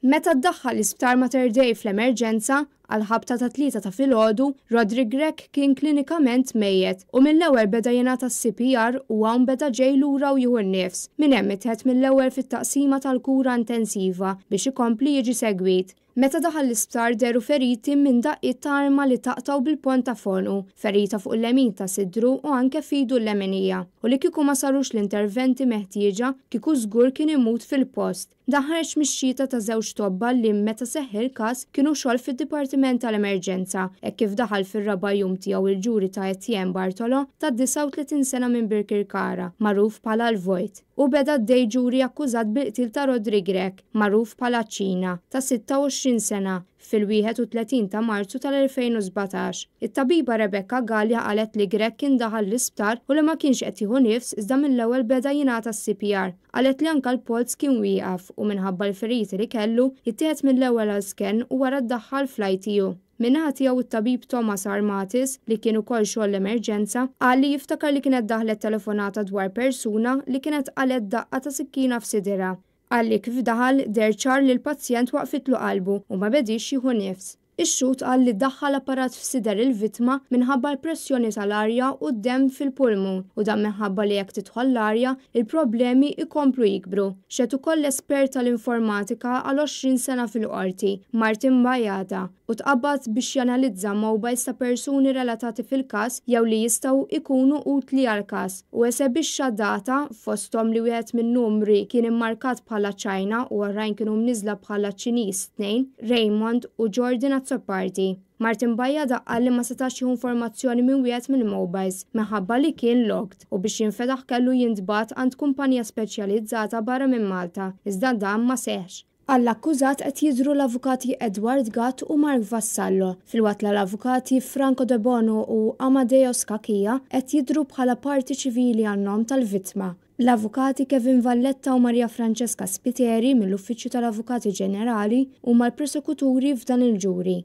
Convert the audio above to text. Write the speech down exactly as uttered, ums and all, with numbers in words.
Meta ddaħħal l-Isptar Mater Dei fl-emerġenza, għal-ħabta tat-tlieta ta' filgħodu, Roderick Grech kien klinikament mejjet u mill-ewwel beda jingħata C P R u hawn beda ġej lura u jieħu n-nifs. Minn hemm ittieħed mill-ewwel fit-taqsima tal-kura intensiva biex ikompli jiġi segwit. Meta daħal l-isptar dehru feriti minn daqqiet ta' arma li taqtaw bil-ponta f'għonqu, ferita fuq il-lemin ta' sidru u anke f'idu l-leminija. U li kieku ma sarux l-interventi meħtieġa, kieku żgur kien imut fil-post. Dan ħareġ mix-xhieda ta' żewġ tobba li meta seħħ il-każ kienu xogħol fid-Dipartiment tal-Emerġenza, e kif daħal fir-raba' jum tiegħu il-ġuri ta' Etienne Bartolo ta' disgħa u tletin sena minn Birkirkara, magħruf bħala l-Vojt. U beda d ġuri akkużat bil-qtil ta' Roderick Grech, magħruf bħala Ċina, ta' sitta u għoxrin sena fil-wieħed u tletin ta' Marzu tal-elfejn u sbatax. It-tabiba Rebecca Gallia qalet li Grech kien daħal l-isptar u li ma kienx qed jieħu nifs, iżda mill-ewwel beda jingħata C P R. Qalet li anka l-polz kien wieqaf u minħabba l-feriti li kellu jittieħed mill-ewwel għal scan u wara ddaħħal fl-I T U. Min-naħa tiegħu, it-tabib Thomas Armatis, li kien ukoll xogħol l-emerġenza, qal li jiftakar li kienet daħlet telefonata dwar persuna li kienet qalgħet daqqa ta' sikkina f'sidirha. Qal li kif daħal deher ċar li l-pazjent waqfitlu qalbu u ma bedix jieħu nifs. Ix-xhud qal li daħħal apparat f'sider il-vittma minħabba l-pressjoni tal-arja u d-dem fil-pulmun u dan minħabba li jekk tidħol l-arja, il-problemi ikomplu jikbru. Xehed ukoll l-espert tal-informatika għal għoxrin sena fil-qorti, Martin Bajada, u tqabbad biex janalizza mobiles ta' persuni relatati fil-każ jew li jistgħu ikunu utli għal-każ u esebixxa data, fosthom li wieħed minn numri kien immarkat bħala China u oħrajn kienu mniżla bħala Ċiniż tnejn, Raymond u Jordan Azzopardi. Martin Bajada qal li ma setax jieħu informazzjoni minn wieħed mill-mobiles minħabba li kien locked u biex jinfetaħ kellu jintbagħat għand kumpanija speċjalizzata barra minn Malta, iżda dan ma seħx. Għall-akkużat qed jidhru l-avukati Edward Gatt u Mark Vassallo, filwaqt l-avukati Franco De Bono u Amadeo Scacchia qed jidhru bħala parti ċivili għan-nom tal-vittma. L-avukati Kevin Valletta u Maria Francesca Spiteri mill-Uffiċċju tal-Avukati Ġenerali huma l-prosekuturi f'dan il-ġuri.